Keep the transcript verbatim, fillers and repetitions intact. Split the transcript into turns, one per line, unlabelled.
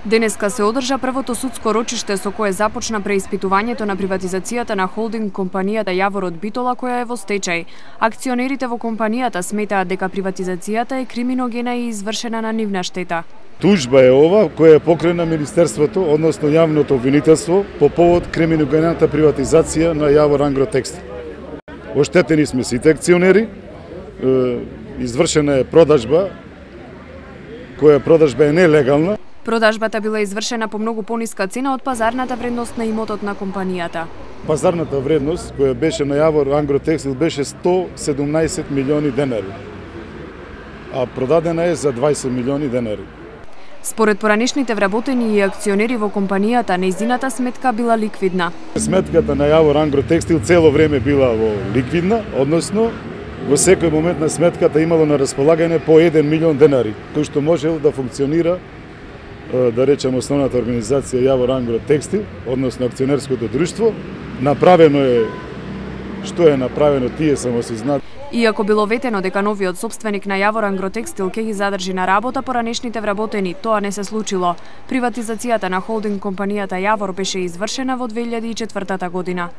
Денеска се одржа првото судско рочиште со кое започна преиспитувањето на приватизацијата на холдинг компанијата Јавор од Битола, која е во стечај. Акционерите во компанијата сметаат дека приватизацијата е криминогена и извршена на нивна штета.
Тужба е ова која е покрена Министерството, односно јавното обвинителство, по повод криминогената приватизација на Јавор Ангротекстил. Оштетени сме сите акционери, извршена е продажба, која продажба е нелегална.
Продажбата била извршена по многу пониска цена од пазарната вредност на имотот на компанијата.
Пазарната вредност која беше на Јавор Ангротекстил беше сто седумнаесет милиони денари, а продадена е за дваесет милиони денари.
Според поранешните вработени и акционери во компанијата, нејзината сметка била ликвидна.
Сметката на Јавор Ангротекстил цело време била во ликвидна, односно во секој момент на сметката имало на располагање по еден милион денари, кој што можел да функционира, да речем, основната организација Јавор Ангротекстил, односно акционерското друштво. Направено е што е направено, тие само се знаат.
Иако било ветено дека новиот сопственик на Јавор Ангротекстил ќе ги задржи на работа поранешните вработени, тоа не се случило. Приватизацијата на холдинг компанијата Јавор беше извршена во две илјади и четвртата година.